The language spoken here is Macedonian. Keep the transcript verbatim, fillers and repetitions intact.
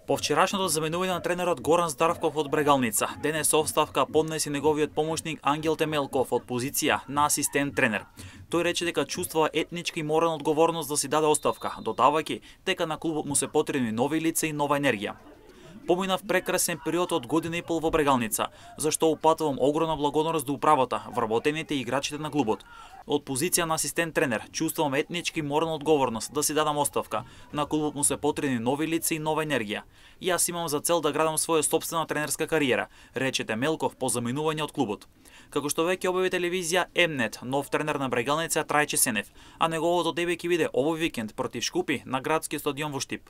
По вчерашното заменување на тренерот Горан Здарвков од Брегалница, денес оставка поднеси неговиот помошник Ангел Темелков од позиција на асистент тренер. Тој рече дека чувствува етничка и морална одговорност да си даде оставка, додавајќи дека на клубот му се потребни нови лица и нова енергија. Поминав прекрасен период од година и пол во Брегалница, зашто упатувам огромна благодарност до управата, вработените и играчите на клубот. Од позиција на асистент тренер чувствувам етнички и морална одговорност да си дадам оставка. На клубот му се потребни нови лица и нова енергија. Јас имам за цел да градам своја собствена тренерска кариера, рече Темелков по заминување од клубот. Како што веќе објави телевизија М-нет, нов тренер на Брегалница Трајче Сенев, а неговото дебе ќе биде овој викенд против Шкупи на градскиот стадион во Штип.